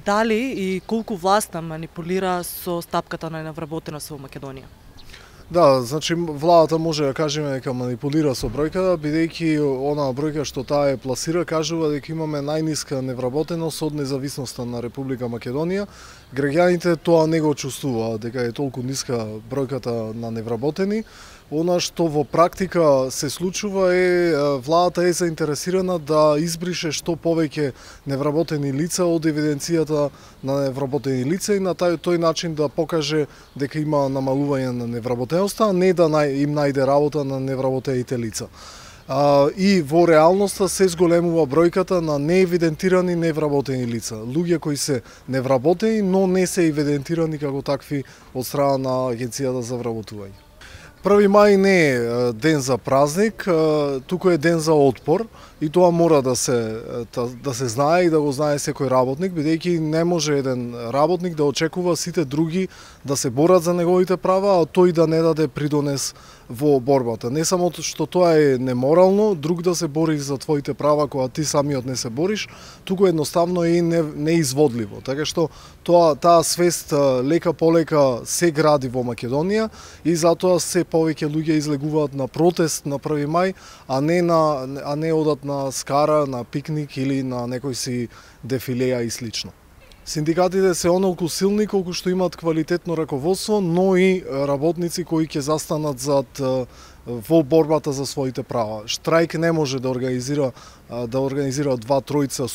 Дали и колку власта манипулира со стапката на невработеност во Македонија? Да, значи владата може да кажеме дека манипулира со бројката, бидејќи онаа бројка што таа е пласира кажува дека имаме најниска невработеност од независноста на Република Македонија. Граѓаните тоа не го чувствуваат дека е толку ниска бројката на невработени. Она што во практика се случува е владата е заинтересирана да избрише што повеќе невработени лица од евиденцијата на невработени лица и на тој начин да покаже дека има намалување на невработеноста, а не да им најде работа на невработените лица. И во реалноста се зголемува бројката на неевидентирани невработени лица. Луѓе кои се невработени, но не се евидентирани како такви од страна на Агенцијата за вработување. 1 мај не е ден за празник, туку е ден за отпор и тоа мора да се знае и да го знае секој работник, бидејќи не може еден работник да очекува сите други да се борат за неговите права, а тој да не даде придонес во борбата. Не само што тоа е неморално, друг да се бори за твоите права кога ти самиот не се бориш, туку едноставно е неизводливо. Така што таа свест лека полека се гради во Македонија и затоа се повеќе луѓе излегуваат на протест на 1 мај, а не одат на скара, на пикник или на некој си дефилеја и слично. Синдикатите се онолку силни колку што имаат квалитетно раководство, но и работници кои ќе застанат во борбата за своите права. Штрајк не може да организира 2-3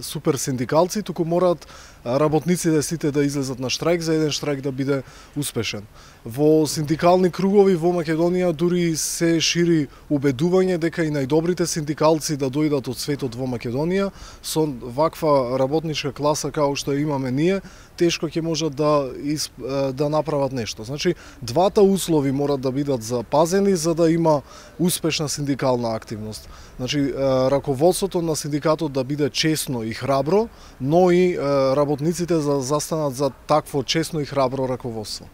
супер синдикалци, туку мораат работниците сите да излезат на штрајк за еден штрајк да биде успешен. Во синдикални кругови во Македонија дури се шири убедување дека и најдобрите синдикалци да дојдат од светот во Македонија со ваква работничка класа како што имаме ние, тешко ќе можат да направат нешто. Значи, двата услови морат да бидат запазени за да има успешна синдикална активност. Значи, раководството на синдикатот да биде честно и храбро, но и работниците да застанат за такво честно и храбро раководство.